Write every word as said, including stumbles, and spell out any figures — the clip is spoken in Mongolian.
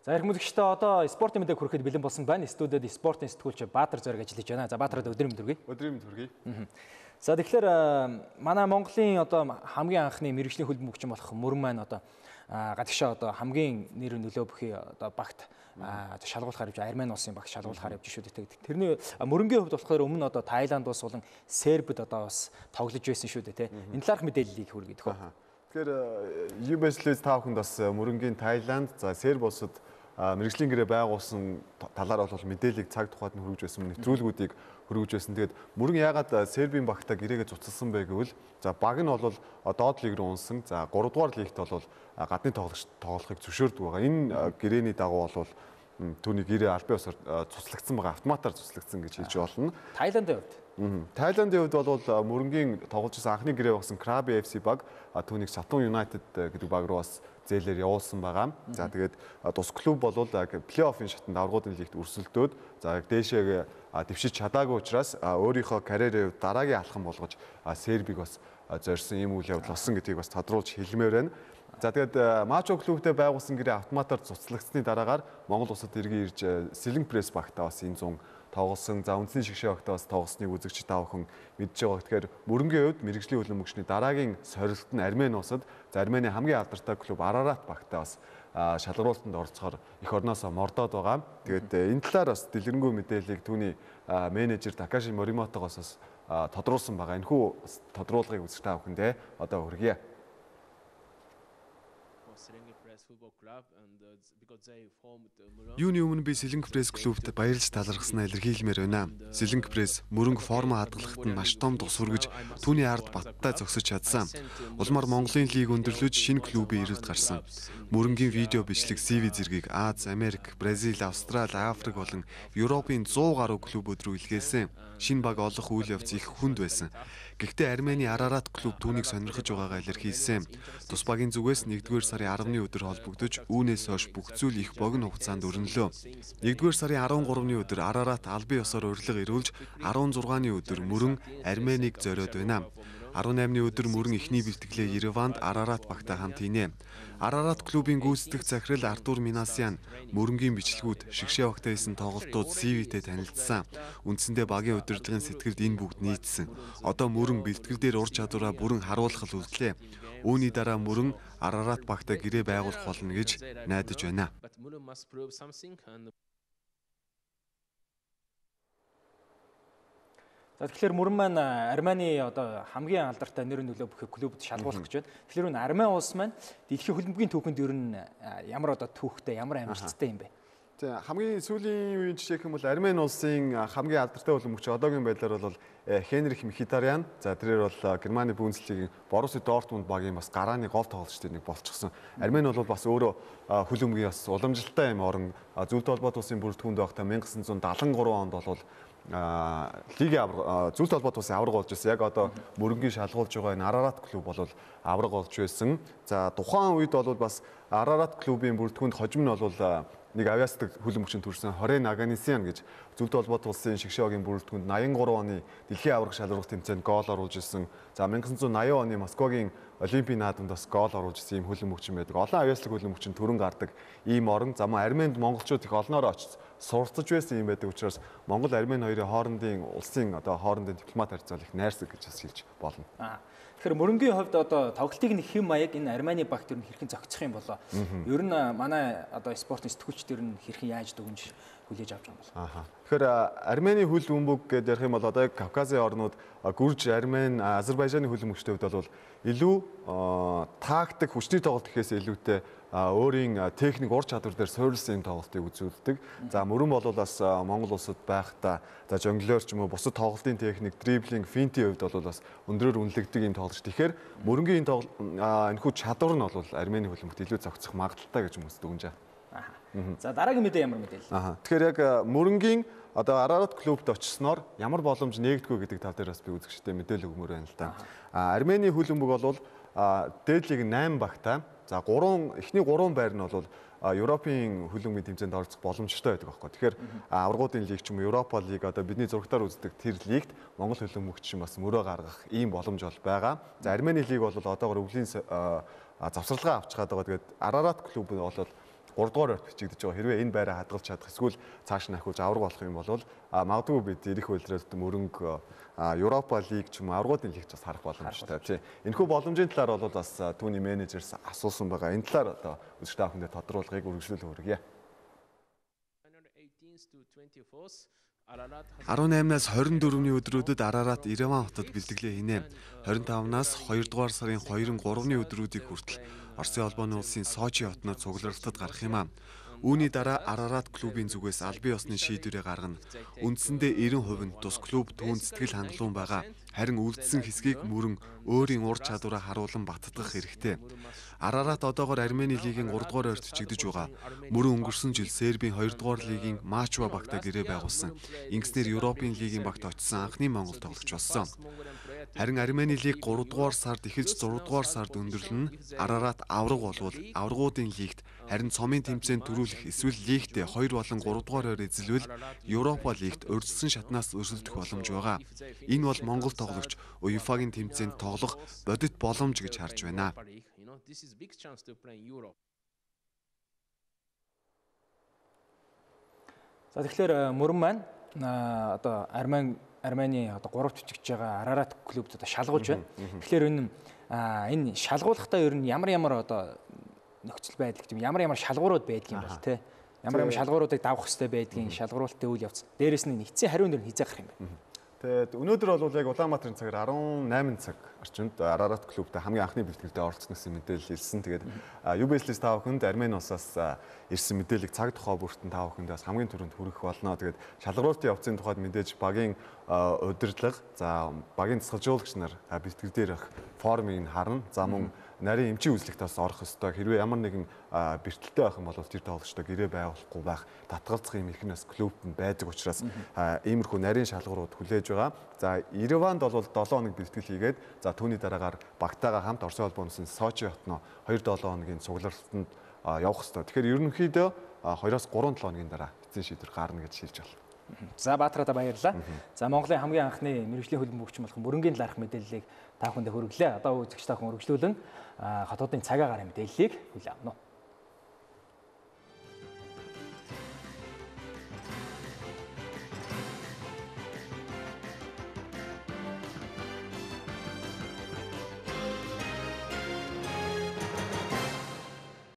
За их музыкчтай одоо спортын мэдээг хүрэхэд бэлэн болсон байна. Студиуд спортын сэтгүүлч Баатар Зориг ажиллаж байна. За Баатарад өдрийн мэнд хүргэе. Өдрийн мэнд хүргэе. За тэгэхээр манай Монголын одоо хамгийн анхны мэрэгжлийн хөлбөмбөгч болох Мөрөн маань одоо гадагшаа одоо хамгийн нэр нөлөө бүхий одоо багт шалгуулахаар явж Армени улсын багт шалгуулахаар явж шүү дээ. Тэрний Мөрөнгийн хувьд болохоор өмнө одоо Тайланд улс болон Сербид одоо бас тоглож байсан шүү дээ. Энэ талаарх мэдээллийг хүргэе дөхөө. Тэгэхээр ю би эс Лиз та бүхэнд бас Мөрөнгийн Тайланд, за Серб улсад мэрэгжлийн гэрээ байгуулсан талаар бол мэдээллийг цаг тухайд нь хүргэж байсан, нэвтрүүлгүүдийг хүргэж байсан. Тэгээд Мөрөн яагаад Сербийн багтаа гэрээгээ цуцалсан бэ гэвэл за баг нь бол доод лиг рүү унсан. За гурав дугаар лигт бол гадны тоглогч тоглохыг зөвшөөрдөг байгаа. Энэ гэрээний дагуу бол түүний гэрээ албан ёсоор цуцлагдсан байгаа, автоматар цуцлагдсан гэж хэлж болно. Тайландын хувьд Тайландын хувьд бол Мөрөнгийн тоглож байсан анхны гэрээ болсон Краби эф си баг түүнийг Сатун Юнайтед гэдэг баг руу бас зээлээр явуулсан байгаа. За тэгээд тус клуб бол плей-оффын шатанд аврагуудын лигт өрсөлдөөд за дээшээ дэвшиж чадаагүй учраас өөрийнхөө карьерээ дараагийн алхам болгож Сербиг бас зорьсон юм үйл явдал болсон гэдгийг бас тодруулж хэлмээр байна. За тэгээд Мачо клубтэй байгуулсан гэрээ автоматар цуцлагдсны дараагаар Монгол улсад иргэн ирж Сэлэнг пресс багтаа бас энэ зун тоглосон. За үндсний шигшээ багтаа бас тоглосныг үзэгч та бүхэн мэдж байгаа. Тэгэхээр Мөрөнгийн хувьд мэрэгжлийн хөлбөмбөгчний дараагийн сорилт нь Армени улсад за Армени хамгийн алдартай клуб Арарат багтаа бас шалгаруулалтанд оролцохоор эх орноосоо мордоод байгаа. Тэгээд энэ талаар бас дэлгэрэнгүй мэдээллийг түүний менежер Такаши Моримотогоос бас тодруулсан байгаа. Энэхүү тодруулгыг үзэж та бүхэндээ одоо хүргье. Юуны өмнө би Сэлэнг пресс клубт баярлж талархснаа илэрхийлмээр байна. Сэлэнг пресс Мөрөнг форма хадгалахад нь маш том тус хүргэж түүний ард баттай зогсож чадсан. Улмаар Монголын лиг өндөрлөж шинэ клубын ирэлд гарсан. Мөрөнгийн видео бичлэг си ви зэргийг Аз, Америк, Бразил, Австрали, Африк болон Европын зуун гаруй клубуд руу илгээсэн. Шинэ баг олох үйл явц их хүнд байсан. Гэхдээ Армени Арарат клуб түүнийг сонирхож байгаагаа илэрхийлсэн. Тус багийн зүгээс нэгдүгээр сарын арваны өдөр холбогдож үүнээс хойш бүх зүйл их богино хугацаанд өрнөлөө. нэгдүгээр сарын арван гуравны өдөр Арарат албан ёсоор урилга ирүүлж арван зургааны өдөр Мөрөн Армениг зориод байна. арван наймны өдөр Мөрөн эхний бэлтгэлээ Ереванд Арарат багтаа хамт хийнэ. Арарат клубын гүйцэтгэх захирал Артур Минасян Мөрөнгийн бичлэгүүд шигшээ багтаа хийсэн тоглолтууд си ви-тэй танилцсан. Үндсэндээ багийн удирдлагын сэтгэлд энэ бүгд нийцсэн. Одоо Мөрөн бэлтгэл дээр ур чадвараа бүрэн харуулах үлдлээ. Үүний дараа Мөрөн Арарат багтаа гэрээ байгуулах болно гэж найдаж байна. За тэгэхээр Мөрөн маань Армени одоо хамгийн алдартай нэр нөлөө бүхий клубд шалгуулах гэж байна. Тэгэхээр энэ Армени улс маань дэлхийн хөлбөмбөгийн түүхэнд ер нь ямар одоо түүхтэй, ямар амжилттай юм бэ? За хамгийн сүүлийн үеийн жишээ хэм бол Армени улсын хамгийн алдартай хөлбөмбөгч одоогийн байдлаар бол Хенрих Мхитарян. За тэрээр бол Германы Бундслигийн Боруссия Дортмунд багийн бас гарааны гол тоглогчдын нэг болчихсон. Армени бол бас өөрөө хөлбөмбөгийн бас уламжлалтай юм орон зөвлөлт холбоот улсын бүрэлдэхүүнд байхдаа 천ги девятьсот седьмдесят три онд бол лигийн авраг зөвлөлт холбоот улсын авраг болж байсан. Яг одоо Мөрөнгийн шалгуулж байгаа энэ Арарат клуб бол авраг болж байсан. За тухайн үед бол бас Арарат клубын бүрэлдэхүүнд хожим нь бол нэг авиасдаг хөлбөмбөгчөнд төрсэн Хорен Аганисян гэж зөвлөлт холбоот улсын шигшээгийн бүрэлдэхүүнд восемьдесят три оны дэлхийн авраг шалралт тэмцээнд гол оруулж ирсэн. За 천ги девятьсот восемьдесят оны Москвагийн Олимпийн наадамд бас гол оруулж ирсэн ийм хөлбөмбөгч байдаг. Олон авиасдаг хөлбөмбөгч төрөн гардаг ийм орон. За мөн Арменид монголчууд их олноор очиж суралцж байсан юм байдаг учраас Монгол Армени хоёрын хоорондын улсын одоо хоорондын дипломат харьцаа их найрсаг гэж хэлж болно. Тэгэхээр Мөрөнгийн хувьд одоо тоглолтыг нэг хэм маяг энэ Армени багт ер нь хэрхэн зохицох юм болоо. Ер нь манай одоо спортын сэтгүүлчдэр нь хэрхэн яаж дүгнж хүлээж авч байгаа юм бол. Аа. Тэгэхээр Армени хөлбөмбөг гэж ярих юм бол одоо Кавказын орнууд Гүрж, Армени, Азербайжаны хөлбөмбөгчтэй хувьд бол илүү тактик хүчний тоглолт гэхээс илүүтэй өөрийн техник ур чадвар дээр суурилсан тоглолтыг үзүүлдэг. За Мөрөн бол бас Монгол улсад байхдаа за жонглер ч юм уу бусад тоглолтын техник, дриблинг, финтийн хувьд бол бас өндрөөр үнэлэгдэг юм тоглож. Тэгэхээр Мөрөнгийн энэхүү чадвар нь бол Армени хөлбөмбөгт илүү зохицох магадaltaй гэж хүмүүс дүгнэж байна. За дараагийн мэдээ ямар мэдээлэл? Аа. Тэгэхээр яг Мөрөнгийн одоо Арарат клубт очсноор ямар боломж нээгдэхгүй гэдэг тал дээр бас би үзэгчтэй мэдээлэл өгмөр байна л да. Армени хөлбөмбөг бол дээд лиг восемь багтаа за гурван эхний гурван байр нь бол Европын хөлбөмбөгийн тэмцээнд оролцох боломжтой байдаг байхгүй. Тэгэхээр аврагуудын лиг ч юм уу Европа лиг одоо бидний зурагтаар үздэг тэр лигт Монгол хөлбөмбөгч бас мөрөө гаргах ийм боломж бол байгаа. За Армени лиг бол одоогоор өвлийн завсралгаа авч чаад байгаа. Тэгээд Арарат клуб нь бол гурав дугаар ойрт бичигдэж байгаа. Хэрвээ энэ байраа хадгалж чадах эсвэл цааш нь ахиулж авраг болох юм бол магадгүй бид ирэх үйлрэлт мөрөнгө Европа лиг ч юм уу аврагуудын лигч бас харах боломжтой тий. Энэхүү боломжийн талаар бол бас түүний менежерс асуусан байгаа. Энэ талаар одоо үзэгч та бүхэндээ тодруулгыг үргэлжлүүлэх хүргье. арван наймнаас хорин дөрөвний өдрүүдэд Арарат Ереван хотод бэлтгэлээ хийнэ. хорин тавнаас хоёрдугаар сарын хоёрын гуравны өдрүүдийг хүртэл Оросын холбооны улсын Сочи хотноо цугларалтад гарах юм а. Үүний дараа Арарат клубын зүгээс аль бие усны шийдвэрээ гаргана. Үндсэндээ ninety percent тус клуб түүнд сэтгэл хангалуун байгаа. Харин үлдсэн хэсгийг мөрөн өөрийн ур чадвараа харуулan баттгах хэрэгтэй. Арарат одоогоор Армени лигийн гурав дугаар ойрт чигдэж байгаа. Мөрөн өнгөрсөн жил Сербийн хоёр дугаар лигийн Мачва багтаа гэрээ байгуулсан. Ингэснээр Европын лигийн багт очсон анхны монгол тоглогч болсон. Харин Армени лиг гурав дугаар сард эхэлж зураг дугаар сард өндөрлөн Арарат авраг болвол аврагуудын лигт харин цомын тэмцээнд төрүүлэх эсвэл лигтээ хоёр болон гурав дугаар ойр эзэлвэл Европа лигт урьдчилсан шатнаас өрсөлдөх боломж байгаа. Энэ бол монгол тоглогч УЕФА-гийн тэмцээнд тоглох бодит боломж гэж харж байна. За тэгэхээр мөрөн маань одоо Армени Армени одоо гуравт жижигж байгаа Арарат клубд одоо шалгуулж байна. Тэгэхээр энэ энэ шалгуулахдаа ер нь ямар ямар одоо нөхцөл байдал гэдэг ямар ямар шалгуурууд байдгийн бол те. Ямар ямар шалгууруудыг давах хэрэгтэй байдгийн шалгуулалтын үйл явц. Дээрээс нь нэгдсэн хариун дээр нь хизээ гарах юм байна. Тэгээд өнөөдөр бол яг Улаанбаатарын цагаар арван найман цаг орчинд Арарат клубтай хамгийн анхны бэлтгэлдээ оролцсон гэсэн мэдээлэл ирсэн. Тэгээд ю би эс эс та бүхэнд Армени улсаас ирсэн мэдээллийг цаг тухай бүртэн та бүхэндээ бас хамгийн түрүүнд хүргэх болно. Тэгээд шалгуулалтын явцын тухайд мэдээж багийн удирдлага, за багийн засгалжуулагч нар бэлтгэл дээр их формыг харна. За мөн нарийн эмчийн үзлэгт бас орох ёстой. Хэрвээ ямар нэгэн бэртэлтэй байх юм бол тэр тоглогчтой гэрээ байгуулахгүй байх, татгалзах юм их нас клубт нь байдаг учраас иймэрхүү нарийн шалгуурууд хүлээж байгаа. За Ереванд бол seven хоног бэлтгэл хийгээд за түүний дараагаар багтаагаа хамт Оросын холбооны улсын Сочи хотноо two seven хоногийн цуглаалтанд явах ёстой. Тэгэхээр ерөнхийдөө two-оос three seven хоногийн дараа эцсийн шийдвэр гарна гэж шилж байна. За Баатараа баярлалаа. За Монголын хамгийн анхны мэргэжлийн хөлбөмбөгч болох мөрөнгийн талаарх мэдээллийг та бүхэндээ хүргэлээ. Одоо үзэгч та бүхэн үргэлжлүүлэн хотуудын цагаагаар мэдээллийг хүлээн авна.